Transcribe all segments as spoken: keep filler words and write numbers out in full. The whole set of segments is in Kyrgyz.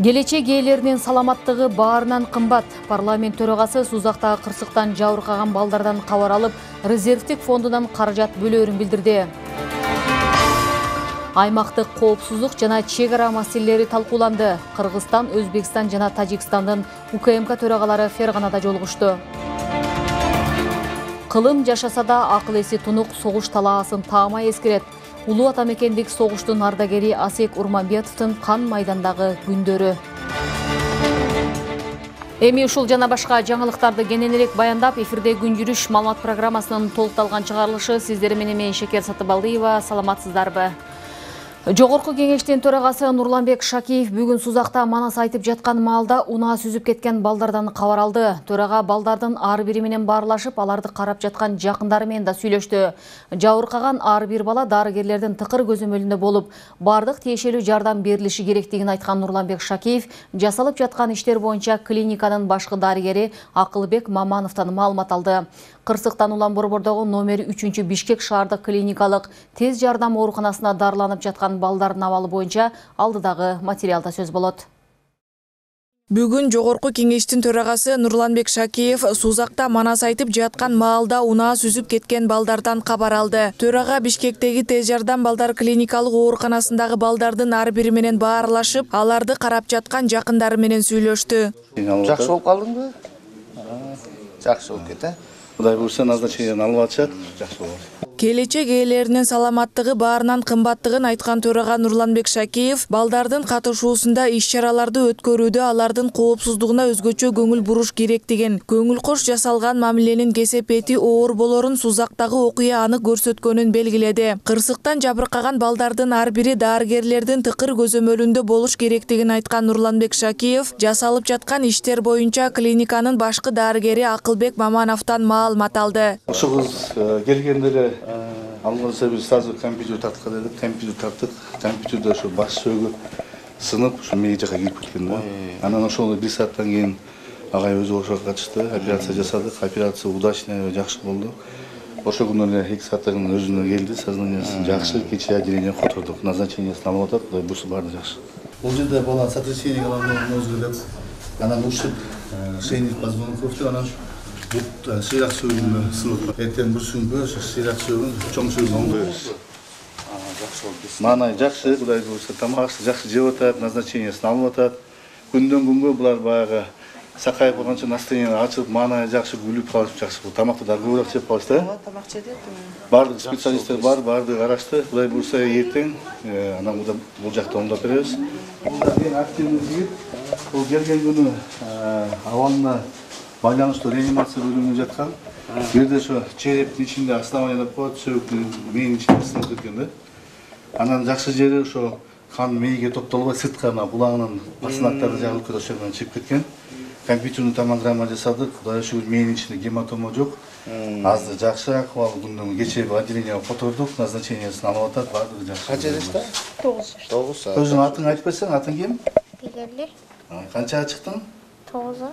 Келечек ээлеринин саламаттыгы баарынан кымбат. Парламент төрагасы Сузактагы кырсыктан жабыркаган балдардан кабар алып, резервдик фондунан каражат бөлөөрүн билдирди. Аймактык коопсуздук жана чек ара маселелери талкууланды. Кыргызстан, Өзбекстан жана Тажикстандын У К М К төрагалары Ферганада жолугушту. Кылым жашаса да акыл эси тунук, согуш талаасын таамай эскерет. Улуу атамекендик согуштун ардагери Асек Урманбетовдун кан майдандагы күндөрү. Эми ушул жана башка жаңылыктарды кененирээк баяндап, эфирде күн жүрүш маалымат программасынын толукталган чыгарылышы сиздер менен мен Шекер Сатыбалдиева. Саламатсыздарбы? Жогорку кеңештин төрагасы Нурланбек Шакиев бүгүн Сузакта манас айтып жаткан маалда унаа сүзүп кеткен балдардан кабар алды. Төрага балдардын ар бири менен баарлашып, аларды карап жаткан жакындары менен да сүйлөштү. Жабыркаган ар бир бала дарыгерлердин тыкыр көзөмөлүндө болуп, бардык тиешелүү жардам берилиши керектигин айткан Нурланбек Шакиев жасалып жаткан иштер боюнча клиниканын башкы дарыгери Акылбек Мамановдон маалымат алды. Кырсыктан Улан Борбордогу номер үчүнчү Бишкек шаардык клиникалык тез жардам ооруканасына дарыланып жаткан балдардын абалы боюнча алдыдагы материалда сөз болот. Бүгүн жогорку кеңештин төрагасы Нурланбек Шакиев Сузакта манас айтып жаткан маалда унаа сүзүп кеткен балдардан кабар алды. Төрага Бишкектеги тез жардам балдар клиникалык ооруканасындагы балдардын ар бири менен баарлашып, аларды карап жаткан жакындары менен сүйлөштү. Жакшы болуп калдыңбы? Жакшы болуп кетти. Кудай буйрса назначениени алып атышат, жакшы болот. Келечек ээлеринин саламаттыгы баарынан кымбаттыгын айткан төрага Нурланбек Шакиев балдардын катышуусунда иш-чараларды өткөрүүдө алардын коопсуздугуна өзгөчө көңүл буруш керектигин, көңүл кош жасалган мамиленин кесепети оор болорун Сузактагы окуя анык көрсөткөнүн белгиледи. Кырсыктан жабыркаган балдардын ар бири дарыгерлердин тыкыр көзөмөлүндө болуш керектигин айткан Нурланбек Шакиев жасалып жаткан иштер боюнча клиниканын башкы дарыгери Акылбек Мамановдон маалымат алды. Ошол кыз келгендери алганда биз сразу компьютер тарткан дедик, компьютер тарттык. Компьютерде ошо баш сөөгү сынып, ошо мээге жака кирип кеткен да. Анан ошол бир сааттан кийин агай өзү ошого катышты, операция жасадык. Операция удачный, жакшы болду. Ошол күнү эле эки сааттан кийин өзүнө келди, сознаниясы жакшы, кечээ отделение котордук, назначениесин алып атат, Кудай буйрса баары жакшы. Бул жерде бала сотрясение головного мозга деп, анан ушиб, шейных позвонков, анан бут сыйрак сөөгүндө сынып. Эртең бир сүңгө сыйрак сөөгүн чоң сөөгүн коебуз. Жакшы болду. Маанай жакшы, Кудай буйрса тамак жакшы жеп атат, назначениесин алып атат. Күндөн күнгө булар баягы сакайып калганча настроение ачылып, маанай жакшы күлүп калып жакшы болду. Тамакты да көбүрөөк жеп калышты. Ооба, тамак жеди. Бардык специалисттер бар, бардык карашты. Кудай буйрса эртең анан бул жакта оңдоп беребиз. Активный жигит. Бул келген күнү абалына байланыштуу реанимация бөлүмүндө жаткан. Бул жерде ошо черептин ичинде основание деп коет, сөөгүн мээнин ичинде сынып кеткен да. Анан жакшы жери ошо кан мээге топтолбой сырткы мына булагынын басынактары жагылып кетип ошол менен чыгып кеткен. Компьютерный томограмма жасадык. Кудайга шүгүр мээнин ичинде гематома жок. Азыр жакшы акыбал, күндөн кечээ отделениеге котордук, назначениесин алып атат, баардыгы жакшы. Канча жашта? тогуз жашта. тогуз. Өзүң атың айтып берсең, атың ким? Бегерли. Канчага чыктың? тогузга.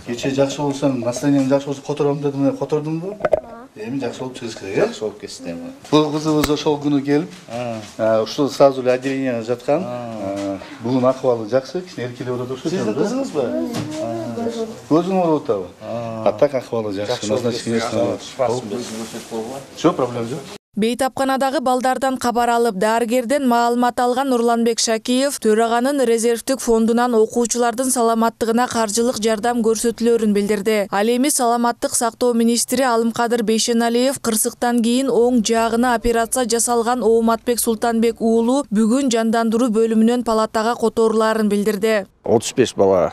Кечээ жакшы болсоң, настроениең жакшы болсо котором дедим, котордуңбу? Эми жакшы болуп чыгыш керек, э? Жакшы болуп кетти. Бул кызыбыз ошол күнү келип, ушул сразу эле отделениеге жаткан. Бүгүн акыбалы жакшы, кичине эркелеп отурду. Сиздин кызыңызбы? Көзүң ооруп атабы? А так акыбалы жакшы. Назначениесин жок, проблема жок. Бейтапканадагы балдардан кабар алып, дарыгерден маалымат алган Нурланбек Шакиев төраганын резервдик фондунан окуучулардын саламаттыгына каржылык жардам көрсөтүлөрүн билдирди. Ал эми саламаттык сактоо министри Алымкадыр Бейшеналиев кырсыктан кийин оң жаагына операция жасалган Ооматбек Султанбек уулу бүгүн жандандыруу бөлүмүнөн палатага которуларын билдирди. отуз беш бала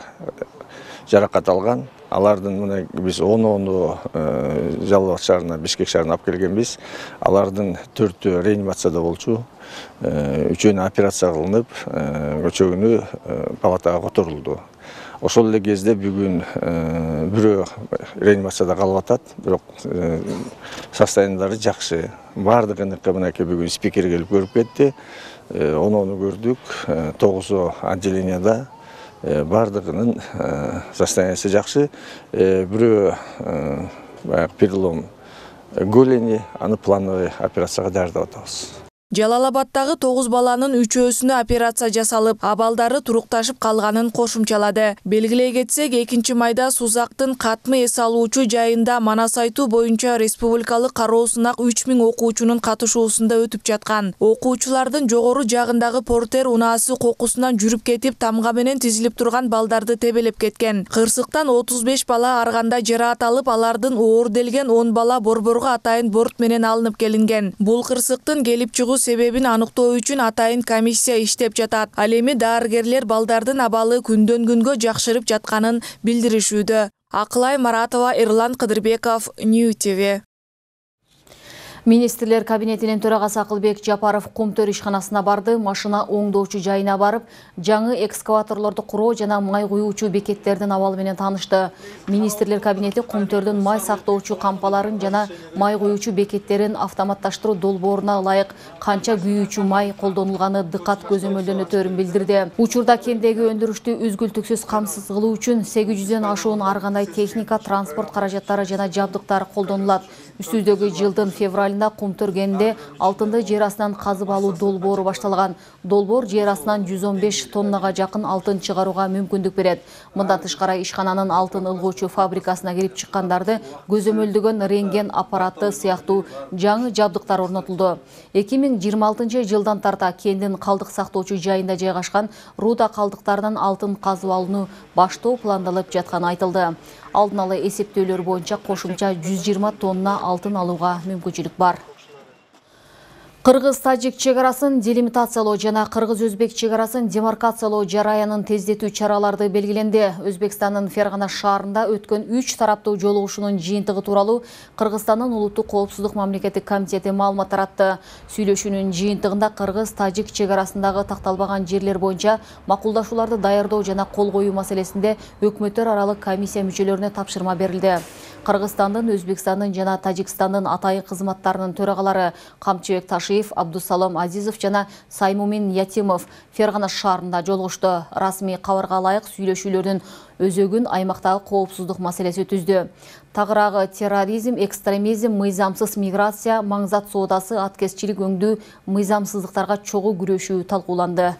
жаракат алган. Алардын мына биз он-онду Жалал Абад шаарына, Бишкек шаарына алып келгенбиз. Алардын төртөө реанимацияда болчу. Үчөөнү операция кылынып, өчөгүнү палатага которулду. ошол эле кезде бүгүн бирөө реанимацияда калып атат, бирок состояниялары жакшы. Бардыгыныкы мынакей бүгүн спикер келип көрүп кетти. Оноону көрдүк. тогузу отделенияда бардыгынын состояниясы жакшы. Бирөө баягы перелом голени, аны плановый операцияга даярдап атабыз. Жалалабадтагы тогуз баланын үчөөсүнө операция жасалып, абалдары турукташып калганын кошумчалады. Белгилей кетсек, экинчи майда Сузактын катмы эс алуучу жайында Манас айтуу боюнча республикалык кароо сынак үч миң окуучунун катышуусунда өтүп жаткан. Окуучулардын жогору жагындагы портер унаасы кокусунан жүрүп кетип, тамга менен тизилип турган балдарды тебелеп кеткен. Кырсыктан отуз беш бала арганда жараат алып, алардын оор делген он бала борборго атайын борт менен алынып келинген. Бул кырсыктын келип чыгуу себебин аныктоо үчүн атайын комиссия иштеп жатат. Ал эми дарыгерлер балдардын абалы күндөн күнгө жакшырып жатканын билдиришүүдө. Акылай Маратова, Эрлан Кыдырбеков, Нью ти ви. Министрлер кабинетинин төрагасы Акылбек Жапаров Кумтөр ишканасына барды, машина оңдоочу жайына барып, жаңы экскаваторлорду куруу жана май куюучу бекеттердин абалы менен таанышты. Министрлер кабинети Кумтөрдүн май сактоочу кампаларын жана май куюучу бекеттерин автоматташтыруу долбооруна ылайык канча күйүүчү май колдонулганы дыкат көзөмөлдөнөтөрүн билдирди. Учурда кендеги өндүрүштү үзгүлтүксүз камсыз кылуу үчүн сегиз жүздөн ашуун ар кандай техника, транспорт каражаттары жана жабдыктар колдонулат. Үстүздөгү жылдын февралында Кумтөр кенинде алтынды жер астынан казып алуу долбоору башталган. Долбоор жер астынан жүз он беш тоннага жакын алтын чыгарууга мүмкүндүк берет. Мындан тышкары ишкананын алтын ылгоочу фабрикасына кирип чыккандарды көзөмөлдөгөн рентген аппараты сыяктуу жаңы жабдыктар орнотулду. эки миң жыйырма алтынчы жылдан тарта кендин калдык сактоочу жайында жайгашкан руда калдыктарынан алтын казып алууну баштоо пландалып жатканы айтылды. Алдын ала эсептөөлөр боюнча кошумча жүз жыйырма тонна алтын алууга мүмкүнчүлүк бар. Кыргыз-Тажик чегарасын делимитациялоо жана Кыргыз-Өзбек чегарасын демаркациялоо жараянын тездетүү чараларды белгиленди. Өзбекстандын Фергана шаарында өткөн үч тараптуу жолугушуунун жыйынтыгы тууралуу Кыргызстандын улуттук коопсуздук мамлекеттик комитети маалымат таратты. Сүйлөшүүнүн жыйынтыгында Кыргыз-Тажик чегарасындагы такталбаган жерлер боюнча макулдашууларды даярдоо жана кол коюу маселесинде өкмөттөр аралык комиссия мүчөлөрүнө тапшырма берилди. Кыргызстандын, Өзбекстандын жана Тажикстандын атайын кызматтарынын төрагалары Камчыбек Ташиев, Абдусалам Азизов жана Саймумин Ятимов Фергана шаарында жолугушту. Расмий кабарга ылайык сүйлөшүүлөрдүн өзөгүн аймактагы коопсуздук маселеси түздү. Тагыраагы терроризм, экстремизм, мыйзамсыз миграция, маңзат соодасы, аткезчилик өңдүү мыйзамсыздыктарга чогуу күрөшүү талкууланды.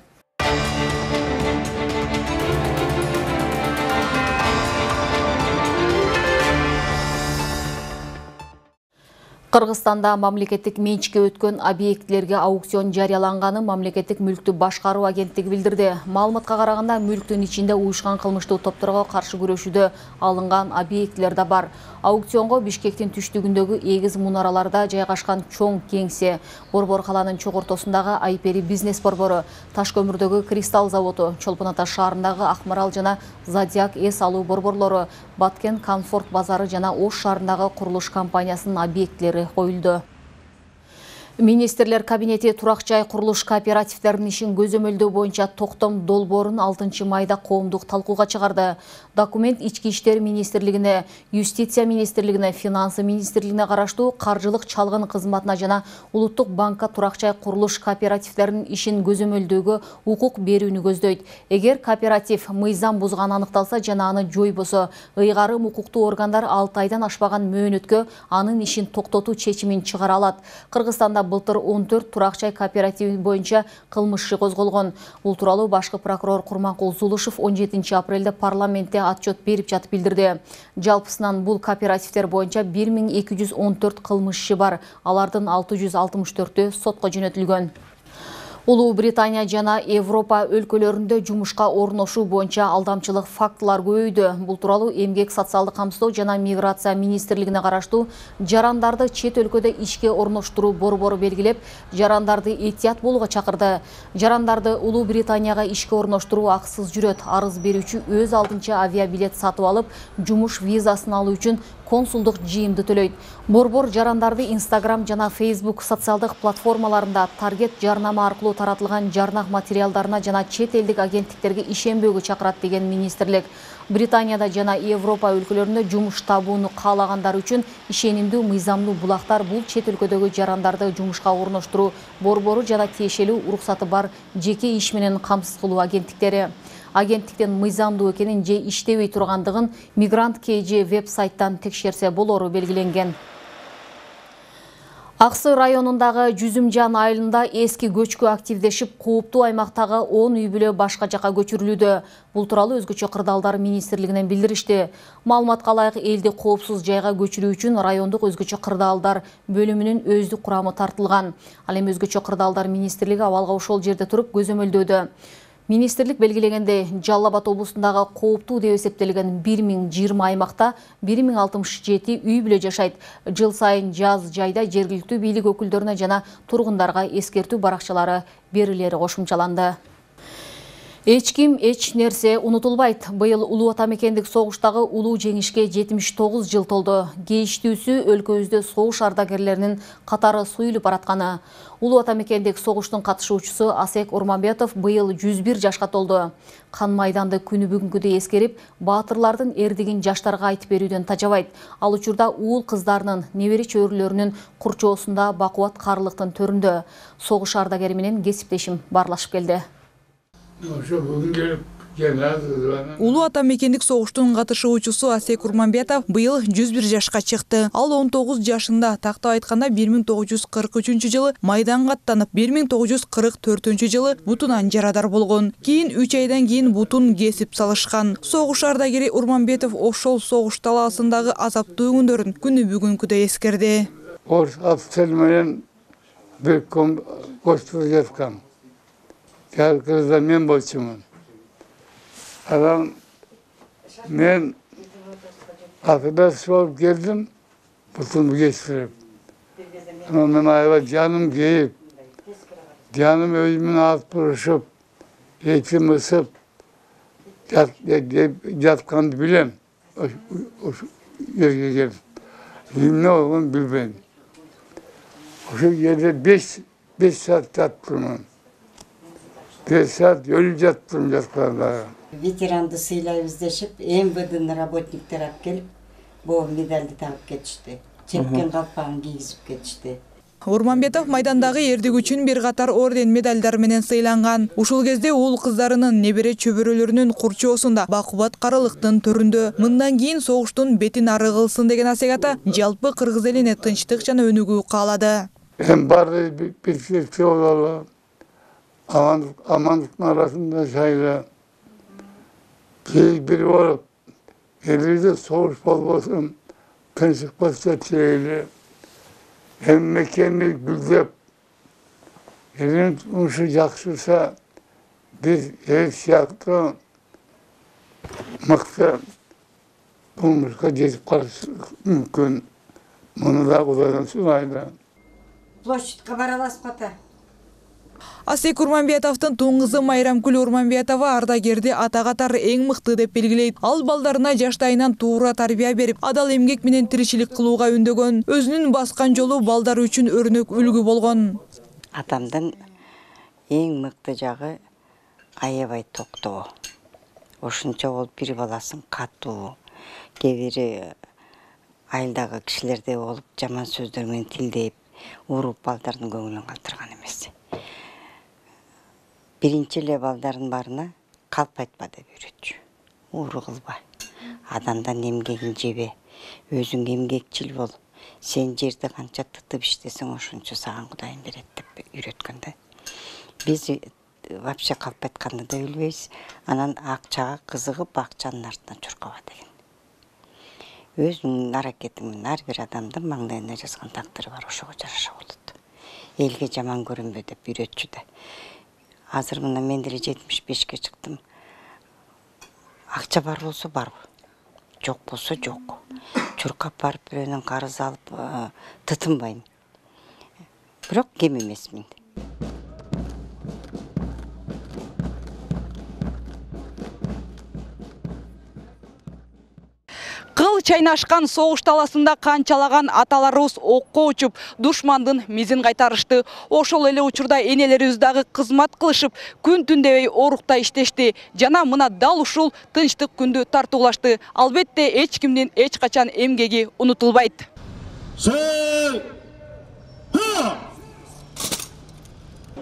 Кыргызстанда мамлекеттик менчикке өткөн объектилерге аукцион жарыяланганы мамлекеттик мүлктү башкаруу агенттиги билдирди. Маалыматка караганда, мүлктүн ичинде уюшкан кылмыштуу топторго каршы күрөшүүдө алынган объектилер да бар. Аукционго Бишкектин түштүгүндөгү эгиз мунараларда жайгашкан чоң кеңсе, Борбор каланын чогортосундагы Айпери бизнес борбору, Таш көмүрдөгү Кристалл заводу, Чолпон Ата шаарындагы Акмарал жана Зодиак эс алуу борборлору, Баткен Комфорт базары жана Ош шаарындагы курулуш компаниясынын объектилери коюлду. Министрлер кабинети турак жай курулуш кооперативдеринин ишин көзөмөлдөө боюнча токтом долбоорун алтынчы майда коомдук талкууга чыгарды. Документ Ички иштер министрлигине, Юстиция министрлигине, Финансы министрлигине караштуу каржылык чалгын кызматына жана Улуттук банкка турак жай курулуш кооперативдеринин ишин көзөмөлдөөгө укук берүүнү көздөйт. Эгер кооператив мыйзам бузганы аныкталса жана аны жойбосо, ыйгарым укуктуу органдар алты айдан ашпаган мөөнөткө анын ишин токтотуу чечимин чыгара алат. Кыргызстанда былтыр он төрт турак жай кооперативи боюнча кылмыш иши козголгон. Бул тууралуу башкы прокурор Курманкул Зулушев он жетинчи апрелде парламентте отчет берип жатып билдирди. Жалпысынан бул кооперативдер боюнча бир миң эки жүз он төрт кылмыш иши бар. Алардын алты жүз алтымыш төртү сотко жөнөтүлгөн. Улуу Британия жана Европа өлкөлөрүндө жумушка орношуу боюнча алдамчылык фактылар көбөйдү. Бул тууралуу Эмгек, социалдык камсыздоо жана миграция министрлигине караштуу жарандарды чет өлкөдө ишке орноштуруу борбору белгилеп, жарандарды этият болууга чакырды. Жарандарды Улуу Британияга ишке орноштуруу акысыз жүрөт. Арыз берүүчү өз алдынча авиабилет сатып алып, жумуш визасын алуу үчүн консулдук жыйымды төлөйт. Борбор жарандарды Instagram жана Facebook социалдык платформаларында таргет жарнама аркылуу таратылган жарнак материалдарына жана чет элдик агенттиктерге ишенбөөгө чакырат деген министрлик. Британияда жана Европа өлкөлөрүндө жумуш табууну каалагандар үчүн ишенимдүү мыйзамдуу булактар бул чет өлкөдөгү жарандарды жумушка орноштуруу борбору жана тиешелүү уруксаты бар жеке иш менен камсыз кылуу агенттиктери. Агенттиктен мыйзамдуу экенин же иштебей тургандыгын Мигрант кей же веб-сайттан текшерсе болору белгиленген. Аксы районундагы Жүзүмжан айылында эски көчкү активдешип, кооптуу аймактагы он үй бүлө башка жака көчүрүлүүдө. Бул тууралуу өзгөчө кырдаалдар министрлигинен билдиришти. Маалыматка ылайык элди коопсуз жайга көчүрүү үчүн райондук өзгөчө кырдаалдар бөлүмүнүн өздүк курамы тартылган. Ал эми өзгөчө кырдаалдар министрлиги абалга ошол жерде туруп көзөмөлдөөдө. Министрлик белгилегенде Жалал Абад облусундагы кооптуу деп эсептелген бир миң жыйырма аймакта бир миң алтымыш жети үй бүлө жашайт. Жыл сайын жаз жайда жергиликтүү бийлик өкүлдөрүнө жана тургундарга эскертүү баракчалары берилери кошумчаланды. Эч ким, эч нерсе унутулбайт. Быйыл улуу ата мекендик согуштагы улуу жеңишке жетимиш тогуз жыл толду. Кейиштүүсү өлкөбүздө согуш ардагерлеринин катары суюлуп баратканы. Улуу ата мекендик согуштун катышуучусу Асек Урманбетов быйыл жүз бир жашка толду. Кан майданды күнү бүгүнкүдөй эскерип, баатырлардын эрдигин жаштарга айтып берүүдөн тажабайт. Ал учурда уул кыздарынын, небере чөбүрлөрүнүн курчоосунда бакубат карылыктын төрүндө. Согуш ардагери менен кесиптешим баарлашып келди. Улуу ата мекендик согуштун катышуучусу Асек Урманбетов быйыл жүз бир жашка чыкты. Ал он тогуз жашында, тактап айтканда бир миң тогуз жүз кырк үчүнчү жылы майданга аттанып, бир миң тогуз жүз кырк төртүнчү жылы бутунан жарадар болгон. Кийин үч айдан кийин бутун кесип салышкан. Согуш ардагери Урманбетов ошол согуш талаасындагы азаптуу күндөрүн күнү бүгүнкүдөй эскерди. Орус офицер менен бир ком коштуп жаткан. Кыргызда мен болчумун. Анан мен операция болуп келдим, бутун кесип. Анан мен аябай жаным кейип, жаным өзүмөн алып турушуп, этим ысып жатканды билем. Ошо жерге келип, эмне болгонун билбейм. Ошол жерде беш саат жаттым. беш саат өлүп жаттым жатканда. Ветеранды сыйлайбыз дешип, эм вэ дэнин работниктер алып келип, бул медалды тагып кетишти. Чепкен калпагын кийгизип кетишти. Урманбетов майдандагы эрдик үчүн бир катар орден медалдар менен сыйланган. Ушул кезде уул кыздарынын, небере чөбөрөлөрүнүн курчоосунда бакубат карылыктын төрүндө. Мындан кийин согуштун бетин ары кылсын деген Асек ата жалпы кыргыз элине тынчтык жана өнүгүү каалады. Эми баары бир бололу. Амандыктын арасында жайла. Бир болуп, элибизде согуш болбосун, тынчсызбакча чейли. Эми мекенди гүлдеп, элин турмушу жакшырса, биз эл сыяктуу мыкты турмушка жетип калышыбыз мүмкүн. Муну да Кудайдан сурайт. Площадька бара аласызбы ата? Асек Урманбетовдун тун кызы Майрамкүл Урманбетова ардагерди ата катары эң мыкты деп белгилейт. Ал балдарына жаштайынан туура тарбия берип, адал эмгек менен тиричилик кылууга үндөгөн. Өзүнүн баскан жолу балдар үчүн өрнөк үлгү болгон. Атамдын эң мыкты жагы аябай токтоо. Ошончо болуп бир баласын катуу, кээ бири айылдагы кишилердей болуп жаман сөздөр менен тилдеп, уруп балдардын көңүлүн калтырган эмес. Биринчи эле балдардын баарына калп айтпа деп үйрөтчү. Ууру кылба. Адамдан эмгегин жебе. Өзүң эмгекчил бол. Сен жерди канча тытып иштесең, ошончо саган Кудайым берет деп үйрөткөн да. Биз вообще калп айтканды да билбейбиз. Анан акчага кызыгып, акчанын артынан чуркаба деген. Өзүнүн аракети менен ар бир адамдын маңдайына жазган тагдыры бар, ошого жараша болот. Элге жаман көрүнбө деп үйрөтчү да. Азыр мына мен деле жетимиш бешке чыктым. Акча бар болсо бар, жок болсо жок. Чуркап барып бирөөнүн карыз алып тытынбайм. Бирок кем эмесмин. Кыл чайнашкан согуш таласында канчалаган аталарыбыз окко учуп, душмандын мизин кайтарышты. Ошол эле учурда энелерибиз дагы кызмат кылышып, күн түн дебей орукта иштешти. Жана мына дал ушул тынчтык күндү тартуулашты. Албетте эч кимдин эч качан эмгеги унутулбайт.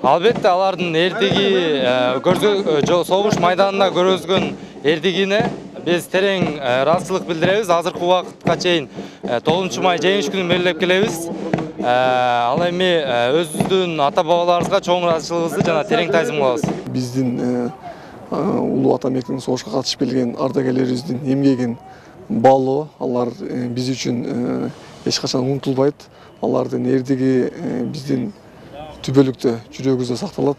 Албетте алардын эрдиги согуш майданында көргөзгөн эрдигине биз терең ыраазычылык билдиребиз. Азыркы убакытка чейин тогузунчу май жеңиш күнүн белгилеп келебиз. Ал эми өзүбүздүн ата бабаларыбызга чоң ыраазычылыгыбызды жана терең таазим кылабыз. Биздин улуу атамекенин согушка катышып келген ардагерлерибиздин эмгегин баалоо, алар биз үчүн эч качан унутулбайт. Алардын эрдиги биздин түбөлүктө жүрөгүбүздө сакталат.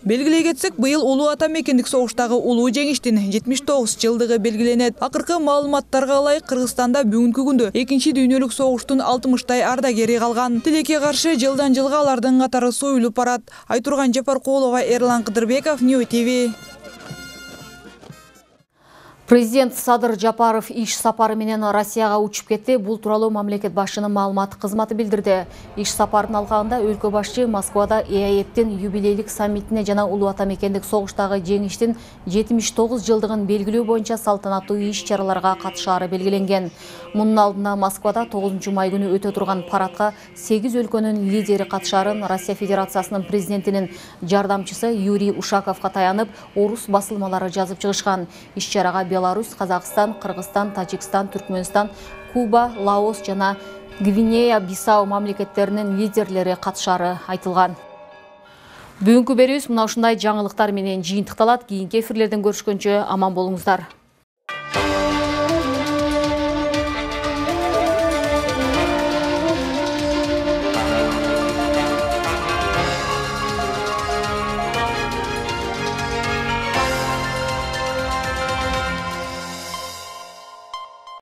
Белгилей кетсек, быйыл улуу атамекендик согуштагы улуу жеңиштин жетимиш тогуз жылдыгы белгиленет. Акыркы маалыматтарга ылайык, Кыргызстанда бүгүнкү күндө экинчи дүйнөлүк согуштун алтымыштай ардагери калган. Тилекке каршы жылдан жылга алардын катары союлуп барат. Айтурган Жапаркулова, Эрлан Кыдырбеков, Нью ТВ. Президент Садыр Жапаров иш сапары менен Россияга учуп кетти. Бул тууралуу мамлекет башчынын маалымат кызматы билдирди. Иш сапарынын алкагында өлкө башчы Москвада ЭАЭПтин юбилейлик саммитине жана улуу атамекендик согуштагы жеңиштин жетимиш тогуз жылдыгын белгилөө боюнча салтанаттуу иш-чараларга катышаары белгиленген. Мунун алдында Москвада тогузунчу май күнү өтө турган парадка сегиз өлкөнүн лидери катышаарын Россия Федерациясынын президентинин жардамчысы Юрий Ушаковго таянып, орус басылмалары жазып чыгышкан. Иш-чарага Беларусь, Казакстан, Кыргызстан, Тажикстан, Түркмөнстан, Куба, Лаос жана Гвинея-Бисау мамлекеттеринин лидерлери катышаары айтылган. Бүгүнкү берүүбүз мына ушундай жаңылыктар менен жыйынтыкталат. Кийинки эфирлерден көрүшкөнчө аман болуңуздар.